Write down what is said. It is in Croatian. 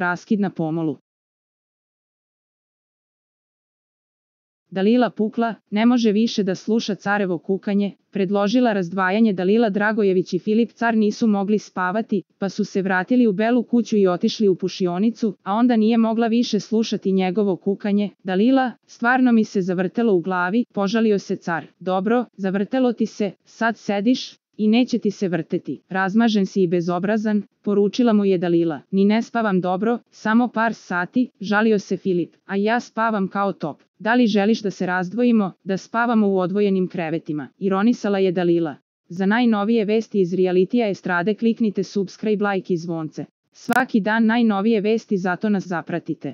raskid na pomolu. Dalila pukla, ne može više da sluša carevo kukanje, predložila razdvajanje. Dalila Dragojević i Filip Car nisu mogli spavati, pa su se vratili u Belu kuću i otišli u pušionicu, a onda nije mogla više slušati njegovo kukanje. Dalila, stvarno mi se zavrtelo u glavi, požalio se Car. Dobro, zavrtelo ti se, sad sediš i neće ti se vrteti. Razmažen si i bezobrazan, poručila mu je Dalila. Ni ne spavam dobro, samo par sati, žalio se Filip. A ja spavam kao top. Da li želiš da se razdvojimo, da spavamo u odvojenim krevetima? Ironisala je Dalila. Za najnovije vesti iz realitija estrade kliknite subscribe, like i zvonce. Svaki dan najnovije vesti, zato nas zapratite.